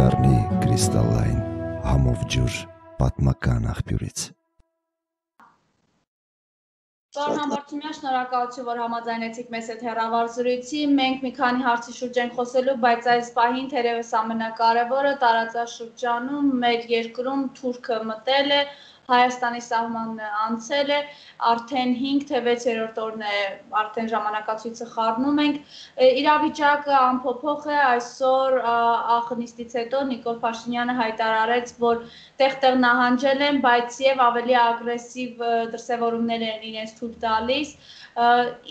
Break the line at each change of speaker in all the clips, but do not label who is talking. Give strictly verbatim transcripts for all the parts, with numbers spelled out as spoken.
կդառնի կրիստալային համով ջուր պատմական աղբյուրից։
Պարոն Համբարձումյան, շնորհակալություն, որ համաձայնեցիք մեզ հետ հեռավար զրույցի։ Մենք մի քանի հարցի շուրջ ենք խոսելու, բայց այս պահին թերևս ամենակարևորը տարածաշրջանում մեր երկրում Թուրքը մտել է, Հայաստանի սահմանն անցել է, արդեն հինգ թե վեցերորդ օրն է, արդեն ժամանակացույցը խառնում ենք։ Իրավիճակը անփոփոխ է, այսօր աղնիստից հետո Նիկոլ Փաշինյանը հայտարարեց, որ տեղ-տեղ նահանջել են, բայց եւ ավելի ագրեսիվ դրսևորումներ են իրենց թույլ տալիս։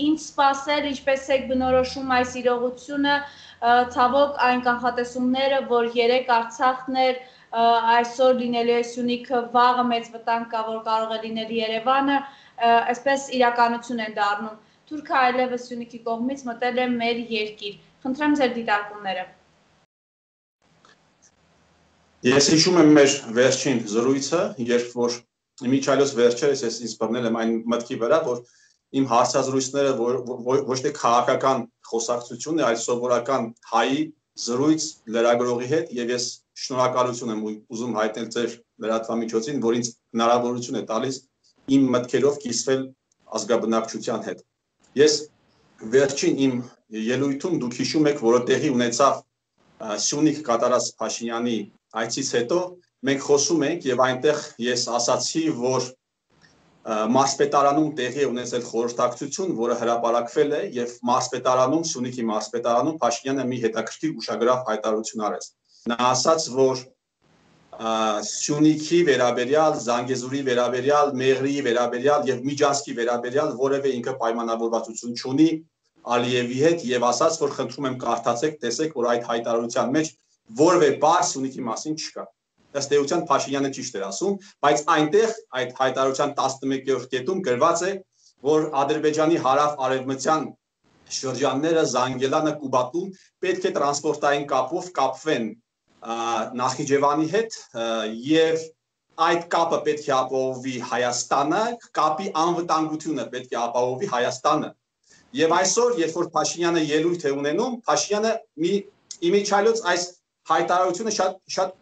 Ինչ սպասել, ինչպես եք բնորոշում այս իրողությունը, ցավոք այն կանխատեսումները, որ երեք Արցախն էր, այսօր լինելու է Սյունիքը, վաղը մեծ վտանգ կա, որ կարող է լինել Երևանը, այսպես իրականություն են դառնում։ Թուրքը այլևս Սյունիքի կողմից մտել է մեր երկիր։ Խնդրեմ ձեր դիտարկումները։
Ես հիշում եմ մեր վերջին զրույցը, երբ որ Միչայլոս վերջերս ես ինձ բռնել եմ այն մտքի վրա, որ իմ հարցազրույցները ոչ թե քաղաքական խոսակցություն է, այլ սովորական հայի զրույց լրագրողի հետ, եւ ես շնորհակալություն եմ ուզում հայտնել ձեր լրատվամիջոցին, որ ինձ հնարավորություն է տալիս իմ մտքերով կիսվել ազգաբնակչության հետ։ Ես վերջին իմ ելույթում դուք հիշում եք, որ տեղի ունեցավ Սյունիք կատարած Փաշինյանի այցից հետո մենք խոսում ենք եւ այնտեղ ես ասացի, որ մարզպետարանում տեղի է ունեցել խորհրդակցություն, որը հրապարակվել է եւ մարզպետարանում, Սյունիքի մարզպետարանում Փաշինյանը մի հետաքրքիր ուշագրավ հայտարարություն արեց։ Նա ասաց, որ Սյունիքի վերաբերյալ, Զանգեզուրի վերաբերյալ, Մեղրիի վերաբերյալ եւ Միջանցքի վերաբերյալ որևէ ինքը պայմանավորվածություն չունի Ալիևի հետ եւ ասաց, որ խնդրում եմ կարդացեք, տեսեք, որ այդ հայտարարության մեջ որևէ բառ Սյունիքի մասին չկա։ Ըստ էության Փաշինյանը ճիշտ էր ասում, բայց այնտեղ այդ հայտարարության տասնմեկերորդ կետում գրված է, որ Ադրբեջանի հարավ-արևմտյան շրջանները Զանգելանը, Կուբատում պետք է տրանսպորտային կապով կապվեն Նախիջևանի հետ եւ այդ կապը պետք է ապահովի Հայաստանը, կապի անվտանգությունը պետք է ապահովի Հայաստանը։ Եվ այսօր, երբ որ Փաշինյանը ելույթ է ունենում, Փաշինյանը մի իմիջիալոց այս հայտարարությունը շատ շատ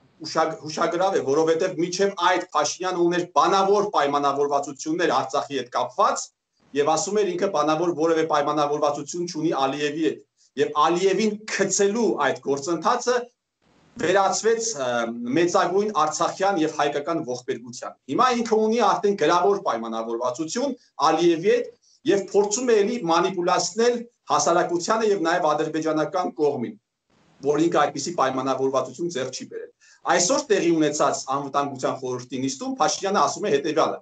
հուշագրավ է, որովհետև միջև այդ Փաշինյանը ուներ բանավոր պայմանավորվածություններ Արցախի հետ կապված եւ ասում էր ինքը բանավոր որևէ պայմանավորվածություն չունի Ալիևի հետ եւ Ալիևին գցելու այդ գործընթացը վերածվեց մեծագույն արցախյան եւ հայկական ողբերգության։ Հիմա ինքը ունի արդեն գրավոր պայմանավորվածություն Ալիևի հետ եւ փորձում է էլի մանիպուլացնել հասարակությանը եւ նաեւ ադրբեջանական կողմին, որ ինքը այդպիսի պայմանավորվածություն ձեռք չի բերել։ Այսօր տեղի ունեցած անվտանգության խորհրդի նիստում Փաշինյանը ասում է հետեւյալը,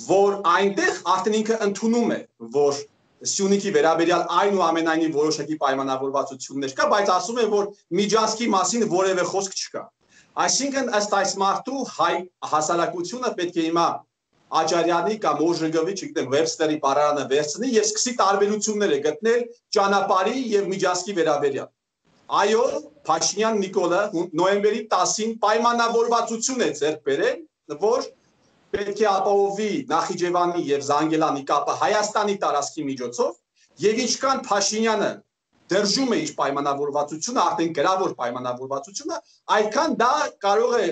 որ այնտեղ արդեն ինքը ընդունում է, որ Սյունիքի վերաբերյալ այնուամենայնիվ որոշակի պայմանավորվածություններ կա, բայց ասում է, որ Միջանցքի մասին որևէ խոսք չկա։ Այսինքն ըստ այս մարդու հայ հասարակությունը պետք է հիմա Աջարյանի կամ Օժեգովի, չգիտեմ, Վեբստերի բառարանը վերցնի եւ սկսի տարբերությունները գտնել ճանապարհի եւ Միջանցքի վերաբերյալ։ Այո, Փաշինյան Նիկոլը նոյեմբերի տասին պայմանավորվածություն է ձեռք բերել, որ պետք է ապահովի Նախիջևանի եւ Զանգելանի կապը Հայաստանի տարածքի միջոցով եւ ինչքան Փաշինյանը դержում է իր պայմանավորվածությունը, արդեն գրավոր պայմանավորվածությունը, այդքան դա կարող է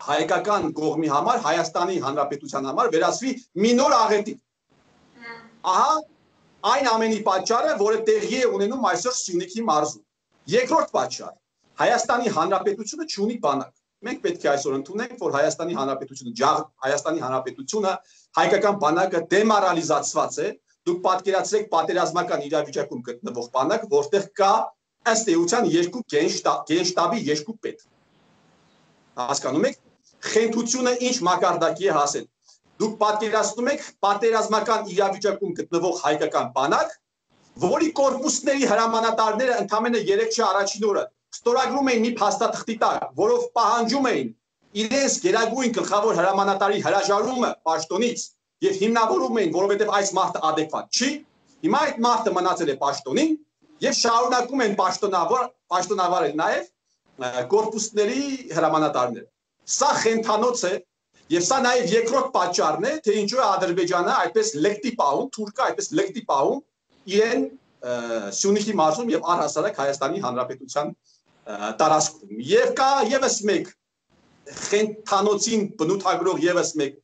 հայկական կողմի համար, Հայաստանի Հանրապետության համար վերածվի մի նոր աղետի։ Ահա այն ամենի պատճառը, որը տեղի է ունենում այսօր Սյունիքի մարզում։ Երկրորդ պատճառ, Հայաստանի Հանրապետությունը չունի բանակ։ Մենք պետք է այսօր ընդունենք, որ Հայաստանի Հանրապետությունը, Հայաստանի Հանրապետությունը, հայկական բանակը դեմորալիզացված է։ Դուք պատկերացրեք պատերազմական իրավիճակում գտնվող բանակ, որտեղ կա ըստ էության երկու գենշտաբի երկու պետ։ Հասկանում եք, խենթությունը ինչ մակարդակի է հասել։ Դուք պատկերացնում եք պատերազմական իրավիճակում գտնվող հայկական բանակ, որի կորպուսների հրամանատարները ընդամենը երեք շաբաթ առաջին օրը ստորագրում էին մի փաստաթղթի տակ, որով պահանջում էին իրենց գերագույն գլխավոր հրամանատարի հրաժարումը պաշտոնից եւ հիմնավորում էին, որովհետեւ այս մարդը adekvat չի։ Հիմա այդ մարդը մնացել է պաշտոնին եւ շարունակում են պաշտոնավոր պաշտոնավարել նաեւ կորպուսների հրամանատարները։ Սա խենթանոց է եւ սա նաեւ երկրորդ պատճառն է, թե ինչու է Ադրբեջանը այդպես լեկտի պահում, Թուրքը այդպես լեկտի պահում իրեն Սյունիքի մարզում եւ առհասարակ Հայաստանի Հանրապետության տարածքում։ Եվ կա եւս մեկ խենթանոցին բնութագրող եւս մեկ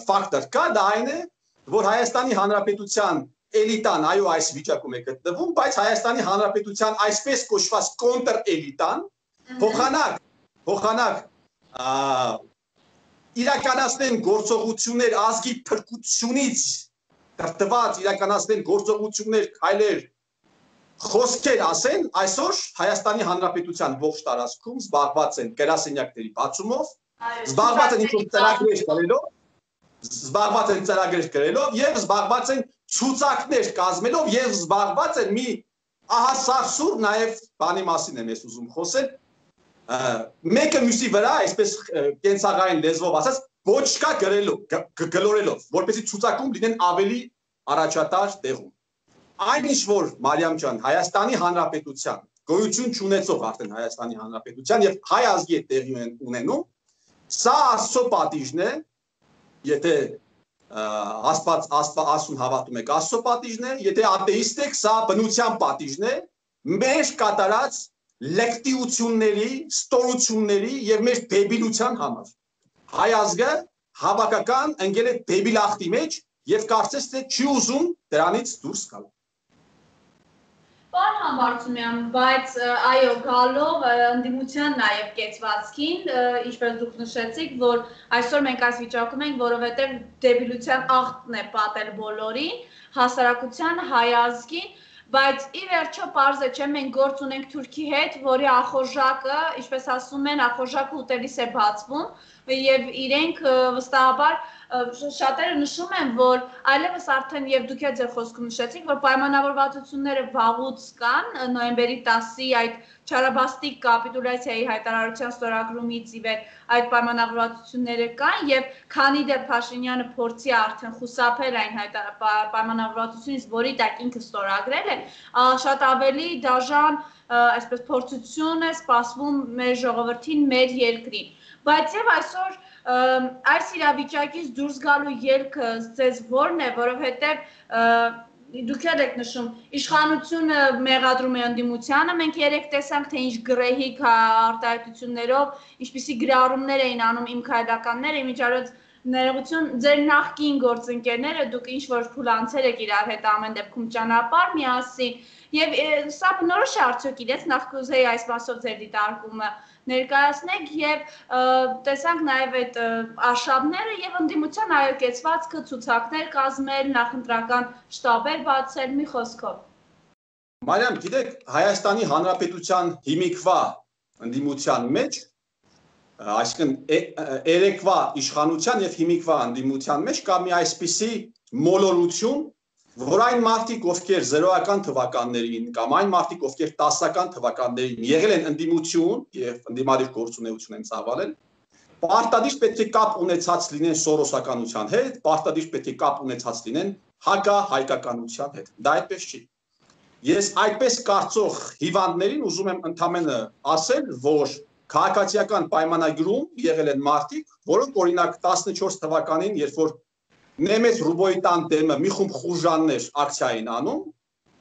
ֆակտոր կա, դա այն է, որ Հայաստանի Հանրապետության էլիտան այո այս վիճակում է գտնվում, բայց Հայաստանի Հանրապետության այսպես կոչված կոնտր էլիտան փոխանակ փոխանակ իրականացնեն գործողություններ ազգի փրկությունից դրտված իրականացնեն գործողություններ քայլեր խոսքեր ասեն, այսօր Հայաստանի Հանրապետության ողջ տարածքում զբաղված են գրասենյակների բացումով, զբաղված են ինչ-որ ծրագրեր կրելով, զբաղված են ծրագրեր կրելով եւ զբաղված են ցուցակներ կազմելով եւ զբաղված են մի ահա սարսուր նաեւ բանի մասին եմ ես ուզում խոսել, մեկը մյուսի վրա, այսպես կենցաղային լեզվով ասած, ոչկա գրելով, գլորելով, որպեսզի ցուցակում լինեն ավելի առաջատար տեղում։ Այն ինչ որ Մարիամ ջան, Հայաստանի Հանրապետության գոյություն չունեցող արդեն Հայաստանի Հանրապետության եւ հայ ազգի հետ տեղի ունենում, սա Աստծո պատիժն է, եթե Աստված Աստված ասուն հավատում եք, Աստծո պատիժն է, եթե աթեիստ եք, սա բնության պատիժն է, մեր կատարած լեկտիությունների, ստորությունների եւ մեր դեբիլության համար։ Հայ ազգը հավաքական ընկել է դեբիլախտի մեջ եւ կարծես թե չի ուզում դրանից դուրս գալ։
Պարոն Համբարձումյան, բայց այո, գալով ընդդիմության նաև կեցվածքին, ինչպես դուք նշեցիք, որ այսօր մենք այս վիճակում ենք, որովհետև դեբիլության աղտն է պատել բոլորին, հասարակության, հայ ազգին, բայց ի վերջո պարզ է, չէ, մենք գործ ունենք Թուրքի հետ, որի ախորժակը, ինչպես ասում են, ախորժակը ուտելիս է բացվում եւ իրենք վստահաբար շատերը նշում են, որ այլևս արդեն եւ դուք եք ձեր խոսքում նշեցիք, որ պայմանավորվածությունները վաղուց կան, նոյեմբերի տասի այդ չարաբաստիկ կապիտուլյացիայի հայտարարության ստորագրումից ի վեր այդ պայմանավորվածությունները կան եւ քանի դեռ Փաշինյանը փորձի արդեն խուսափել այն պայմանավորվածությունից, որի տակ ինքը ստորագրել է, շատ ավելի դաժան այսպես փորձություն է սպասվում մեր ժողովրդին, մեր երկրին։ Բայց եւ այսօր այս իրավիճակից դուրս գալու ելքը ձեզ որն է, որովհետև դուք եք նշում, իշխանությունը մեղադրում է ընդդիմությանը, մենք երեք տեսանք, թե ինչ գրեհիկ արտահայտություններով, ինչպիսի գրառումներ էին անում իմ քայլականները, իմիջիայլոց ներողություն, ձեր նախկին գործընկերները, դուք ինչ որ փուլանցեր եք իրար հետ ամեն դեպքում ճանապարհ միասին, եւ սա բնորոշ է արդյոք իրենց, նախ կուզեի այս մասով ձեր դիտարկումը ներկայացնեք եւ տեսանք նաեւ այդ արշավները եւ ընդդիմության այլ կեցվածքը ցուցակներ կազմել, նախընտրական շտաբեր բացել, մի խոսքով։
Մարիամ, գիտեք, Հայաստանի Հանրապետության հիմիկվա ընդդիմության մեջ, այսինքն երեկվա իշխանության եւ հիմիկվա ընդդիմության մեջ կա մի այսպիսի մոլորություն, որ այն մարդիկ, ովքեր զրոական թվականներին կամ այն մարդիկ, ովքեր տասական թվականներին եղել են ընդդիմություն եւ ընդդիմադիր գործունեություն են ծավալել, պարտադիր պետք է կապ ունեցած լինեն սորոսականության հետ, պարտադիր պետք է կապ ունեցած լինեն հակահայկականության հետ։ Դա այդպես չի։ Ես այդպես կարծող հիվանդներին ուզում եմ ընդամենը ասել, որ քաղաքացիական պայմանագրում եղել են մարդիկ, որոնք օրինակ տասնչորս թվականին, երբ որ Նեմեծ Ռուբոյտան դեմը մի խումբ խուժաններ ակցիային անում,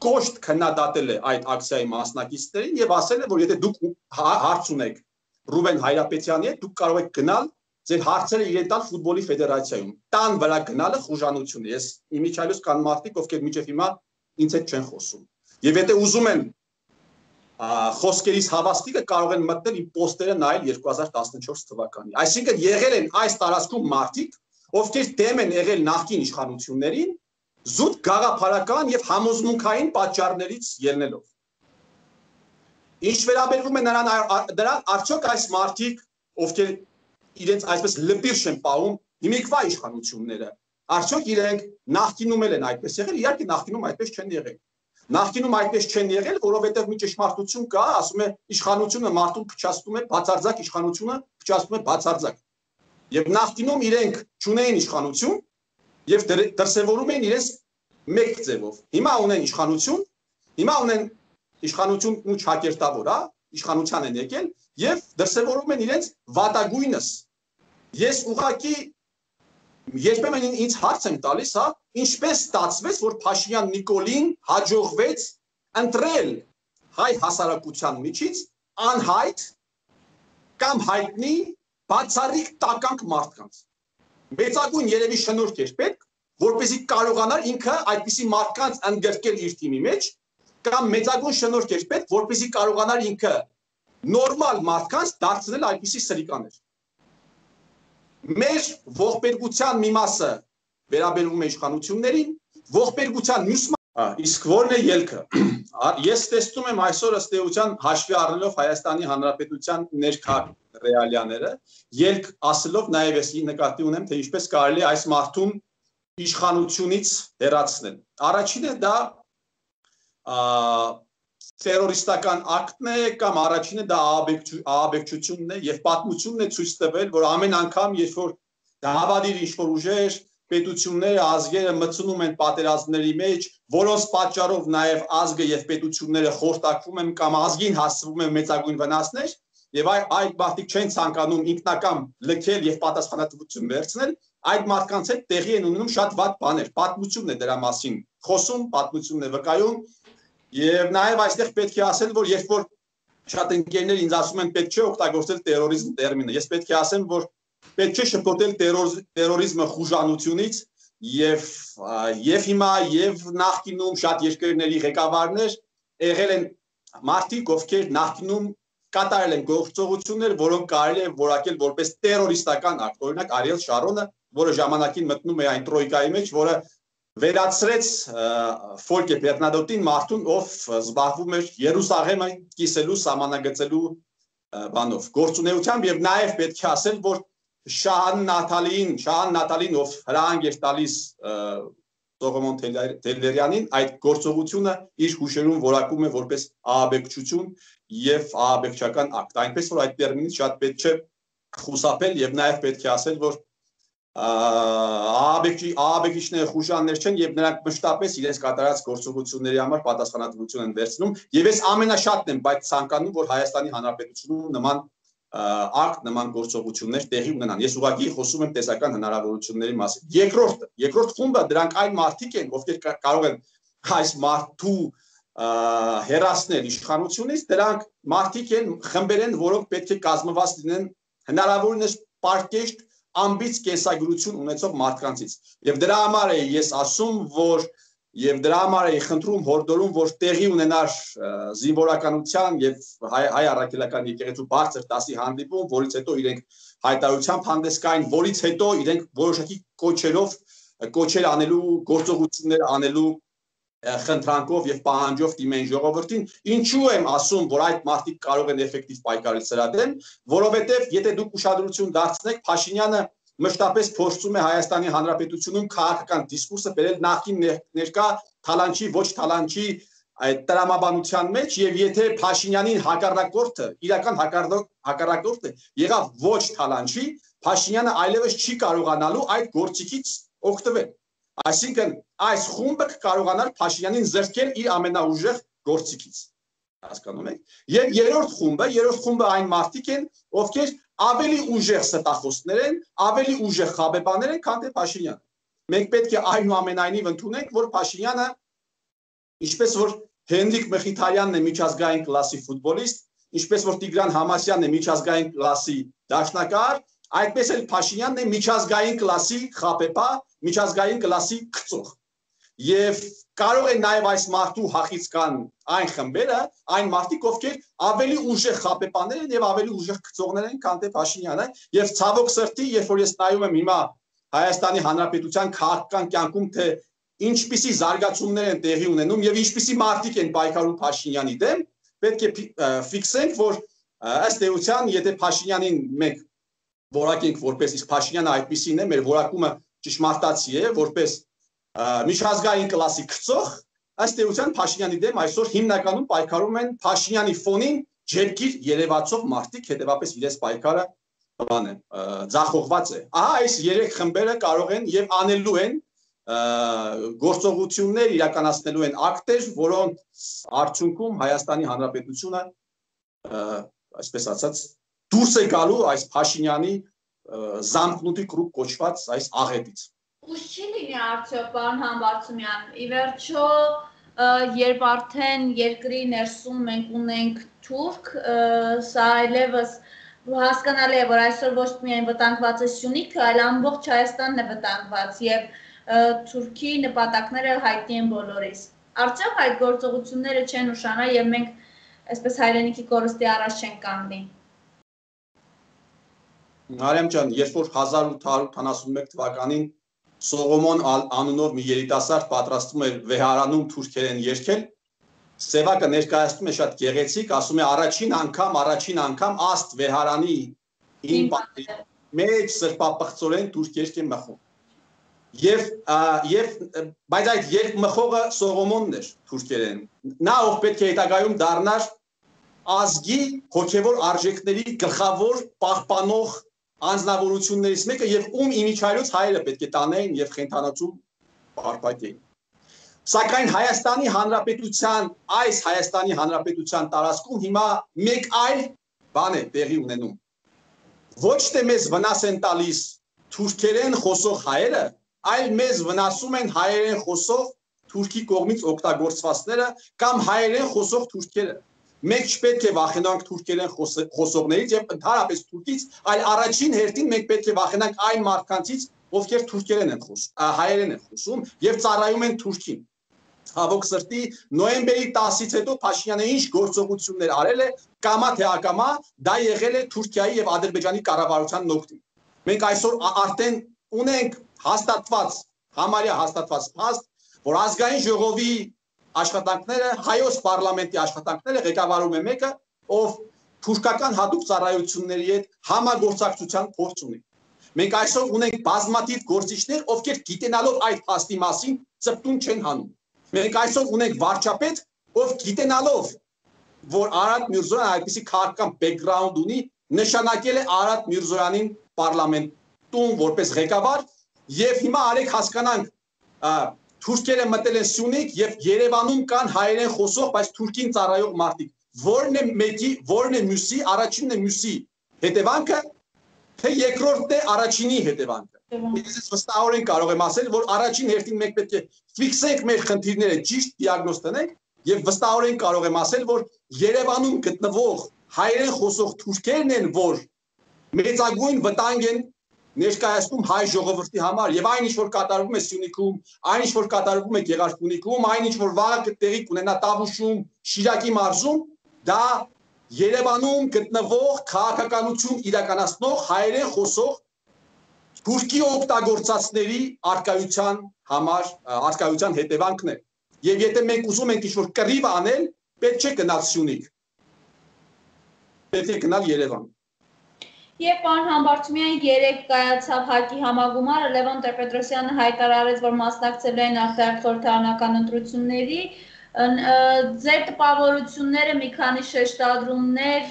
կոշտ քննադատել է այդ ակցիայի մասնակիցներին եւ ասել է, որ եթե դուք հարց ունեք Ռուբեն Հայրապետյանի հետ, դուք կարող եք գնալ ձեր հարցերը իրեն տալ ֆուտբոլի ֆեդերացիայում։ Տան վրա գնալը խուժանություն է։ Ես իմիջիայլոց կան մարդիկ, ովքեր մինչև հիմա ինձ հետ չեն խոսում։ Եվ եթե ուզում են խոսքերից հավաստիկը կարող են մտնել իմ պոստերը նայել երկու հազար տասնչորս թվականի։ Այսինքն եղել են այս տարածքում մարդիկ, ովքեր դեմ են եղել նախկին իշխանություններին, զուտ գաղափարական եւ համոզմունքային պատճառներից ելնելով։ Ինչ վերաբերվում է նրան, դրան արդյոք այս մարդիկ, ովքեր իրենց այսպես լպիրշ են պահում հիմիկվա իշխանությունները, արդյոք իրենք նախկինում են այդպես եղել, իհարկե նախկինում այդպես չեն եղել։ Նախկինում այդպես չեն եղել, որովհետեւ մի ճշմարտություն կա, ասում է իշխանությունը մարդուն փչացնում է, բացարձակ իշխանությունը փչացնում է բացարձակ։ Եվ նախկինում իրենք չունեին իշխանություն եւ դրսեւորում էին իրենց մեկ ձևով։ Հիմա ունեն իշխանություն, հիմա ունեն իշխանություն ու ճակերտավոր, հա, իշխանության են եկել եւ դրսեւորում են իրենց վատագույնս։ Ես ուղղակի երբեմն ինձ հարց եմ տալիս, հա, ինչպես ստացվեց, որ Փաշինյան Նիկոլին հաջողվեց ընտրել հայ հասարակության միջից անհայտ կամ հայտնի բացառիկ տականք մարդկանց։ Մեծագույն երևի շնորհք էր պետք, որպեսզի կարողանար ինքը այդպիսի մարդկանց ընդգրկել իր թիմի մեջ, կամ մեծագույն շնորհք էր պետք, որպեսզի կարողանար ինքը նորմալ մարդկանց դարձնել այդպիսի սրիկաներ։ Մեր ողբերգության մի մասը վերաբերվում է իշխանություններին, ողբերգության մյուս իսկ որն է ելքը։ Ես տեսնում եմ այսօր ըստ էության հաշվի առնելով Հայաստանի Հանրապետության ներքա ռեալիաները, ելք ասելով նաև ես նկատի ունեմ, թե ինչպես կարելի է այս մարդուն իշխանությունից հեռացնել։ Առաջինը դա տերորիստական ակտն է կամ առաջինը դա ահաբեկչությունն է եւ պատմությունն է ցույց տվել, որ ամեն անգամ երբ որ դավադիր ինչ-որ ուժեր պետությունները, ազգերը մտցնում են պատերազմների մեջ, որոնց պատճառով նաև ազգը եւ պետությունները խորտակվում են կամ ազգին հասցվում են մեծագույն վնասներ, եւ այդ մարդիկ չեն ցանկանում ինքնական լքել եւ պատասխանատվություն վերցնել, այդ մարդկանց հետ տեղի են ունենում շատ վատ բաներ, պատմությունն է դրա մասին խոսում, պատմությունն է վկայում, եւ նաեւ այստեղ պետք է ասել, որ երբ որ շատ ընկերներ ինձ ասում են պետք չէ օգտագործել տերորիզմ տերմինը, ես պետք է ասեմ, որ պետք չէ շփոթել տերորիզմը խուժանությունից եւ եւ հիմա եւ նախկինում շատ երկրների ղեկավարներ եղել են մարդիկ, ովքեր նախկինում կատարել են գործողություններ, որոնք կարելի է որակել որպես տերորիստական ակտ, օրինակ Արիել Շարոնը, որը ժամանակին մտնում է այն տրոյկայի մեջ, որը վերացրեց Ֆոլկե Բերնադոտին մարդուն, ով զբաղվում էր Երուսաղեմը կիսելու, սահմանագծելու բանով, գործունեությամբ եւ նաեւ պետք է ասել, որ Շահան Նաթալին, Շահան Նաթալին, ով հրահանգ էր տալիս Սողոմոն Թելերյանին, այդ գործողությունը իր հուշերում որակում է որպես ահաբեկչություն եւ ահաբեկչական ակտ, այնպես որ այդ տերմինից շատ պետք չէ խուսափել եւ նաեւ պետք է ասել, որ ահաբեկիչները խուժաններ չեն եւ նրանք մշտապես իրենց կատարած գործողությունների համար պատասխանատվություն են վերցնում եւ ես ամենաշատն եմ բայց ցանկանում, որ Հայաստանի Հանրապետությունում նման ակտ նման գործողություններ տեղի ունենան։ Ես ուղղակի խոսում եմ տեսական հնարավորությունների մասին։ Երկրորդը, երկրորդ խումբը դրանք այն մարդիկ են, ովքեր կարող են այս մարդու հերացնել իշխանությունից, դրանք մարդիկ են, խմբեր են, որոնք պետք է կազմված լինեն հնարավորինս պարկեշտ ամբից կենսագրություն ունեցող մարդկանցից։ Եվ դրա համար է ես ասում, որ եւ դրա համար է խնդրում հորդորում, որ տեղի ունենար զինվորականության եւ հայ, հայ առաքելական եկեղեցու բարձր դասի հանդիպում, որից հետո իրենք հայտարարությամբ հանդես գային, որից հետո իրենք որոշակի կոչերով կոչեր անելու, գործողություններ անելու խնդրանքով եւ պահանջով դիմեն ժողովրդին, ինչու եմ ասում, որ այդ մարդիկ կարող են էֆեկտիվ պայքարել սրա դեմ, որովհետեւ եթե դուք ուշադրություն դարձնեք, Փաշինյանը մշտապես փորձում է Հայաստանի Հանրապետությունում քաղաքական դիսկուրսը բերել նախին ներկա թալանչի ոչ թալանչի այդ տրամաբանության մեջ եւ եթե Փաշինյանին հակառակորդը, իրական հակառակորդը եղավ ոչ թալանչի, Փաշինյանը այլևս չի կարողանալու այդ գործիքից օգտվել։ Այսինքն այս խումբը կարողանար Փաշինյանին զրկել իր ամենաուժեղ գործիքից։ Հասկանում եք։ Եվ երրորդ խումբը, երրորդ խումբը այն մարդիկ են, ովքեր ավելի ուժեղ ստախոսներ են, ավելի ուժեղ խաբեբաներ են, քան թե Փաշինյանը։ Մենք պետք է այնուամենայնիվ ընդունենք, որ Փաշինյանը, ինչպես որ Հենրիկ Մխիթարյանն է միջազգային կլասի ֆուտբոլիստ, ինչպես որ Տիգրան Համասյանն է միջազգային կլասի դաշնակահար, այդպես էլ Փաշինյանն է միջազգային կլասի խաբեբա, միջազգային կլասի գծող։ Եվ կարող է նաև այս մարդու հախից կան այն խմբերը, այն մարդիկ, ովքեր ավելի ուժեղ խաբեբաներ են եւ ավելի ուժեղ գծողներ են, քան թե Փաշինյանը, եւ ցավոք սրտի, երբ որ ես նայում եմ հիմա Հայաստանի Հանրապետության քաղաքական կյանքում, թե ինչպիսի զարգացումներ են տեղի ունենում եւ ինչպիսի մարդիկ են պայքարում Փաշինյանի դեմ, պետք է ֆիքսենք, որ ըստ էության, եթե Փաշինյանին մենք որակենք որպես իսկ Փաշինյանը այդպիսին է, մեր որակումը ճշմարտացի է, որպես միջազգային կլասի գծող, ըստ էության Փաշինյանի դեմ այսօր հիմնականում պայքարում են Փաշինյանի ֆոնին ջերկիր երևացող մարդիկ, հետեւապես իրենց պայքարը բան է, ձախողված է։ Ահա այս երեք խմբերը կարող են եւ անելու են գործողություններ, իրականացնելու են ակտեր, որոնց արդյունքում Հայաստանի Հանրապետությունը, այսպես ասած, դուրս է գալու այս Փաշինյանի զամկնուտի կրուկ կոչված այս աղետից։
Ուշ չի լինի արդյոք, պարոն Համբարձումյան, ի վերջո երբ արդեն երկրի ներսում մենք ունենք թուրք, սա այլևս հասկանալի է, որ այսօր ոչ միայն վտանգված է Սյունիքը, այլ ամբողջ Հայաստանն է վտանգված եւ Թուրքի նպատակները հայտնի են բոլորիս։ Արդյոք այդ գործողությունները չեն ուշանա եւ մենք այսպես հայրենիքի կորստի առաջ չեն կանգնի։
Մարիամ ջան, երբ որ հազար ութ հարյուր ութանասունմեկ թվականին Սողոմոն անունով մի երիտասարդ պատրաստում էր վեհարանում թուրքերեն երգել, Սևակը ներկայացնում է շատ գեղեցիկ, ասում է առաջին անգամ, առաջին անգամ աստ վեհարանի իմ պատերի մեջ սրբապղծորեն թուրք երգ է մխում։ Եվ եւ բայց այդ երգ մխողը Սողոմոնն էր թուրքերեն։ Նա ով պետք է հետագայում դառնար ազգի հոգևոր արժեքների գլխավոր պահպանող անձնավորություններից մեկը եւ ում իմիջայլոց հայերը պետք է տանեին եւ խենթանացում պարփակեին։ Սակայն Հայաստանի Հանրապետության այս Հայաստանի Հանրապետության տարածքում հիմա մեկ այլ բան է տեղի ունենում։ Ոչ թե մեզ վնաս են տալիս թուրքերեն խոսող հայերը, այլ մեզ վնասում են հայերեն խոսող Թուրքի կողմից օգտագործվածները կամ հայերեն խոսող թուրքերը։ Մենք չպետք է վախենանք թուրքերեն խոսողներից եւ ընդհանրապես թուրքից, այլ առաջին հերթին մենք պետք է վախենանք այն մարդկանցից, ովքեր թուրքերեն են խոսում, հայերեն են խոսում եւ ծառայում են Թուրքին։ Հավոք սրտի նոյեմբերի տասից հետո Փաշինյանը ինչ գործողություններ արել է, կամա թե ակամա, դա եղել է Թուրքիայի եւ Ադրբեջանի կառավարության նոկտին։ Մենք այսօր արդեն ունենք հաստատված, համարյա հաստատված փաստ, որ ազգային ժողովի աշխատանքները, հայոց պարլամենտի աշխատանքները ղեկավարում է մեկը, ով թուրքական հատուկ ծառայությունների հետ համագործակցության փորձ ունի։ Մենք այսօր ունենք բազմաթիվ գործիչներ, ովքեր գիտենալով այդ փաստի մասին ծպտուն չեն հանում։ Մենք այսօր ունենք վարչապետ, ով գիտենալով, որ Արարատ Միրզոյանը այդպիսի քաղաքական բեքգրաունդ ունի, նշանակել է Արարատ Միրզոյանին պարլամենտում որպես ղեկավար, եւ հիմա արեք հասկանանք Թուրքերը մտել են Սյունիք եւ Երևանում կան հայերեն խոսող, բայց թուրքին ծառայող մարդիկ։ Որն է մեկի, որն է մյուսի, առաջինն է մյուսի հետևանքը, թե երկրորդն է առաջինի հետևանքը։ Ես վստահորեն կարող եմ ասել, որ առաջին հերթին մենք պետք է ֆիքսենք մեր խնդիրները, ճիշտ դիագնոզ տնենք եւ վստահորեն կարող եմ ասել, որ Երևանում գտնվող հայերեն խոսող թուրքերն են, որ մեծագույն վտանգ են ներկայացնում հայ ժողովրդի համար եւ այն ինչ որ կատարվում է Սյունիքում, այն ինչ որ կատարվում է Գեղարքունիքում, այն ինչ որ վաղը տեղի կունենա Տավուշում, Շիրակի մարզում, դա Երևանում գտնվող քաղաքականություն իրականացնող հայերեն խոսող թուրքի օգտագործածների արկայության համար արկայության հետևանքն է։ Եվ եթե մենք ուզում ենք ինչ-որ կռիվ անել, պետք չէ գնալ Սյունիք։ Պետք է գնալ Երևան։
Եվ պարոն Համբարձումյան երեկ կայացավ ՀԱԿ-ի համագումարը, Լևոն Տեր-Պետրոսյանը հայտարարեց, որ մասնակցել են արտահերթ խորհրդարանական ընտրությունների, ձեր տպավորությունները մի քանի շեշտադրումներ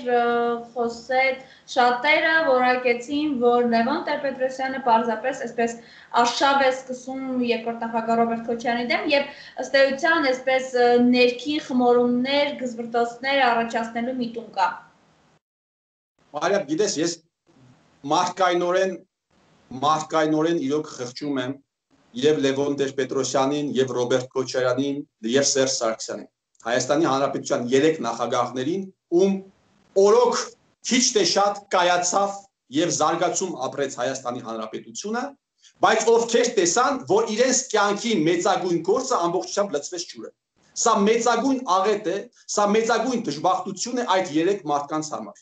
խոսեց, շատերը որակեցին, որ Լևոն Տեր-Պետրոսյանը պարզապես այսպես արշավ է սկսում երկրորդ նախագահ Ռոբերտ Քոչարյանի դեմ եւ ըստ էության այսպես ներքին խմորումներ, գզվրտոցներ առաջացնելու միտում կա։
Մարիամ, գիտես, ես մարդկայնորեն մարդկայնորեն իրոք խղճում եմ եւ Լևոն Տեր-Պետրոսյանին եւ Ռոբերտ Քոչարյանին եւ Սերժ Սարգսյանին, Հայաստանի Հանրապետության երեք նախագահներին, ում օրոք քիչ թե շատ կայացավ եւ զարգացում ապրեց Հայաստանի Հանրապետությունը, բայց ովքեր տեսան, որ իրենց կյանքի մեծագույն գործը ամբողջությամբ լցվեց ջուրը։ Սա մեծագույն աղետ է, սա մեծագույն դժբախտություն է այդ երեք մարդկանց համար։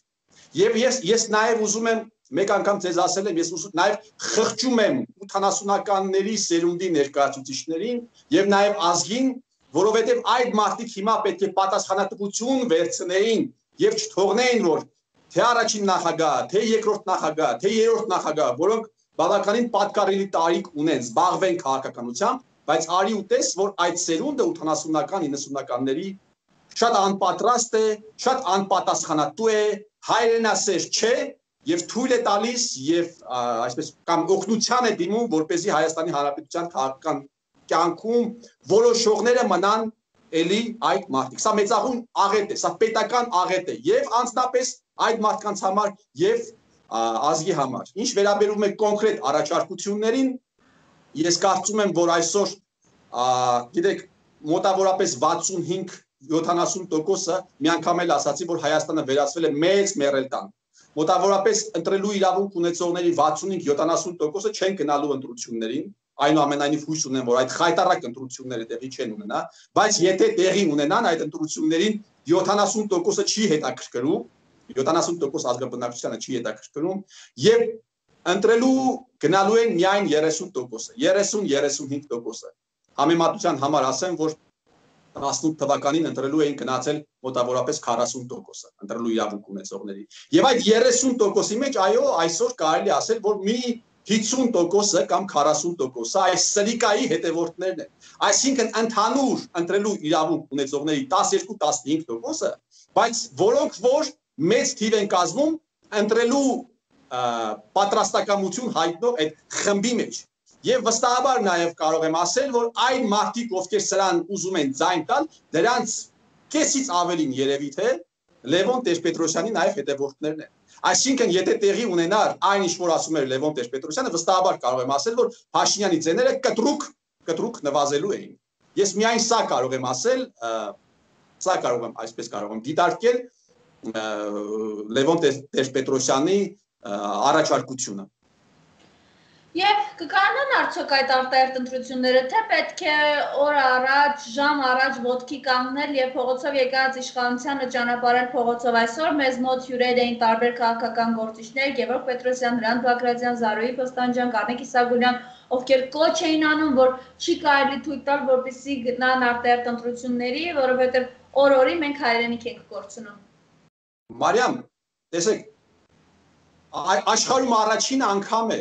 Եվ ես ես նաև ուզում եմ մեկ անգամ ձեզ ասել եմ, ես ուզում նաև խղճում եմ ութանասունականների սերունդի ներկայացուցիչներին եւ նաև ազգին, որովհետեւ այդ մարդիկ հիմա պետք է պատասխանատվություն վերցնեին եւ չթողնեին, որ թե առաջին նախագահ, թե երկրորդ նախագահ, թե երրորդ նախագահ, որոնք բավականին պատկառելի տարիք ունեն, զբաղվեն քաղաքականությամբ, բայց արի ու տես, որ այդ սերունդը ութանասունական իննսունականների շատ անպատրաստ է, շատ անպատասխանատու է, հայրենասեր չէ եւ թույլ է տալիս եւ այսպես կամ օգնության է դիմում, որպեսզի Հայաստանի Հանրապետության քաղաքական կյանքում որոշողները մնան էլի այդ մարդիկ։ Սա մեծագույն աղետ է, սա պետական աղետ է եւ անձնապես այդ մարդկանց համար եւ ազգի համար։ Ինչ վերաբերում է կոնկրետ առաջարկություններին, ես կարծում եմ, որ այսօր գիտեք մոտավորապես վաթսունհինգ յոթանասուն տոկոսը միանգամ էլ ասացի, որ Հայաստանը վերածվել է մեծ մեռելտան։ Մոտավորապես ընտրելու իրավունք ունեցողների վաթսունհինգ յոթանասուն տոկոսը չեն գնալու ընտրություններին, այնուամենայնիվ հույս ունեմ, որ այդ խայտառակ ընտրությունները տեղի չեն ունենա, բայց եթե տեղի ունենան այդ ընտրություններին յոթանասուն տոկոսը չի հետաքրքրում, յոթանասուն տոկոս ազգաբնակչությանը չի հետաքրքրում եւ ընտրելու գնալու են միայն երեսուն տոկոսը, երեսուն երեսունհինգ տոկոսը։ Համեմատության համար ասեմ, որ տասնութ թվականին ընտրելու էին գնացել մոտավորապես քառասուն տոկոսը ընտրելու իրավունք ունեցողների։ Եվ այդ երեսուն տոկոսի մեջ այո, այսօր կարելի ասել, որ մի հիսուն տոկոսը կամ քառասուն տոկոսը այս սրիկայի հետևորդներն են։ Այսինքն ընդհանուր ընտրելու իրավունք ունեցողների տասներկու տասնհինգ տոկոսը, բայց որոնք որ մեծ թիվ են կազմում ընտրելու պատրաստակամություն հայտնող այդ խմբի մեջ։ Եվ վստահաբար նաև կարող եմ ասել, որ այն մարդիկ, ովքեր սրան ուզում են ձայն տալ, դրանց կեսից ավելին երևի թե Լևոն Տեր-Պետրոսյանի նաև հետևորդներն են։ Այսինքն, եթե տեղի ունենար այն ինչ որ ասում էր Լևոն Տեր-Պետրոսյանը, վստահաբար կարող եմ ասել, որ Փաշինյանի ձեները կտրուկ, կտրուկ նվազելու էին։ Ես միայն սա կարող եմ ասել, սա կարող եմ, այսպես կարող եմ դիտարկել Լևոն Տեր-Պետրոսյանի առաջարկությունը։
Եվ կկանան արդյոք այդ արտահերթ ընտրությունները, թե պետք է օր առաջ, ժամ առաջ ոտքի կանգնել եւ փողոցով եկած իշխանությանը ճանապարհել փողոցով այսօր մեզ մոտ հյուրեր էին տարբեր քաղաքական գործիչներ, Գևորգ Պետրոսյան, Հրանտ Բագրատյան, Զարուհի Պստանջյան, Կարմիկ Իսագուլյան, ովքեր կոչ էին անում, որ չի կարելի թույլ տալ, որպեսզի գնան արտահերթ ընտրությունների, որովհետեւ օր-օրի մենք հայրենիք ենք կորցնում։
Մարիամ, տեսեք, աշխարհում առաջին անգամ է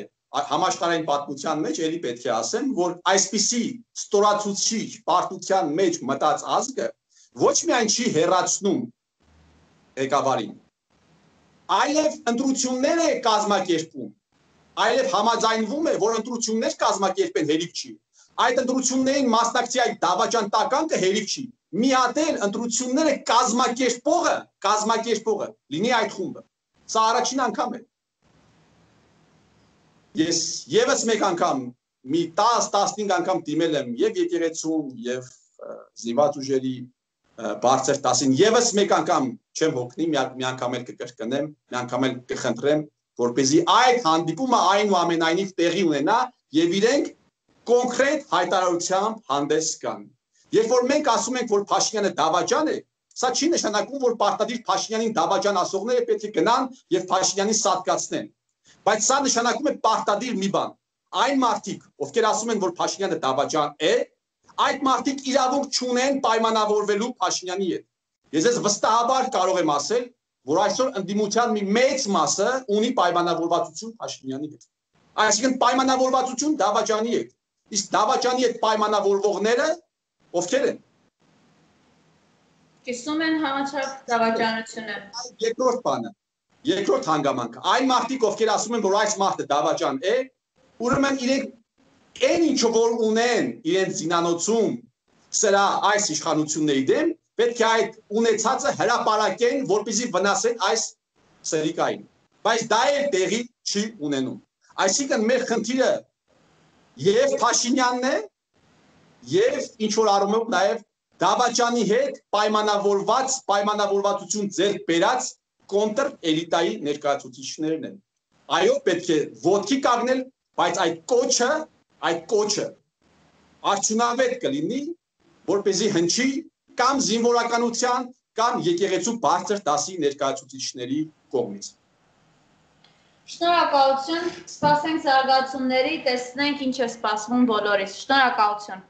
համաշխարհային պատմության մեջ էլի պետք է ասեմ, որ այսպիսի ստորացուցիչ պարտության մեջ մտած ազգը ոչ միայն չի հեռացնում ղեկավարին, այլև ընտրություններ է կազմակերպում, այլև համաձայնվում է, որ ընտրություններ կազմակերպեն հերիք չի։ Այդ ընտրություններին մասնակցի այդ դավաճան տականքը հերիք չի։ Մի հատ էլ ընտրությունները կազմակերպողը, կազմակերպողը լինի այդ խումբը։ Սա առաջին անգամ է։ Ես եւս մեկ անգամ մի տասը տասնհինգ անգամ դիմել եմ եւ եկեղեցում եւ զինված ուժերի բարձր տասին եւս մեկ անգամ չեմ հոգնի, մի անգամ էլ կկրկնեմ, մի անգամ էլ կխնդրեմ, որպեսզի այդ հանդիպումը այնուամենայնիվ տեղի ունենա եւ իրենք կոնկրետ հայտարարությամբ հանդես գան։ Երբ որ մենք ասում ենք, որ Փաշինյանը դավաճան է, սա չի նշանակում, որ պարտադիր Փաշինյանին դավաճան ասողները պետք է գնան եւ Փաշինյանին սատկացնեն։ Բայց սա նշանակում է պարտադիր մի բան։ Այն մարդիկ, ովքեր ասում են, որ Փաշինյանը դավաճան է, այդ մարդիկ իրավունք չունեն պայմանավորվելու Փաշինյանի հետ։ Ես ես վստահաբար կարող եմ ասել, որ այսօր ընդդիմության մի մեծ մասը ունի պայմանավորվածություն Փաշինյանի հետ։ Այսինքն պայմանավորվածություն դավաճանի հետ։ Իսկ դավաճանի հետ պայմանավորվողները ովքեր են։
Կիսում են համաչափ դավաճանությունը։
Երկրորդ բանը, երկրորդ հանգամանքը, այն մարդիկ, ովքեր ասում են, որ այս մարդը դավաճան է, ուրեմն իրենք այն ինչը որ ունեն իրենց զինանոցում սրա այս իշխանությունների դեմ, պետք է այդ ունեցածը հրապարակեն, որպեսզի վնասեն այս սրիկային։ Բայց դա էլ տեղի չի ունենում։ Այսինքն մեր խնդիրը եւ Փաշինյանն է, եւ ինչ որ առումով նաեւ դավաճանի հետ պայմանավորված, պայմանավորվածություն ձեռք բերած կոնտր էլիտայի ներկայացուցիչներն են։ Այո, պետք է ոտքի կանգնել, բայց այդ կոչը, այդ կոչը արդյունավետ կլինի, որպեսզի հնչի կամ զինվորականության, կամ եկեղեցու բարձր դասի ներկայացուցիչների կողմից։
Շնորհակալություն, սպասենք զարգացումների, տեսնենք ինչ է սպասվում բոլորիս։ Շնորհակալություն։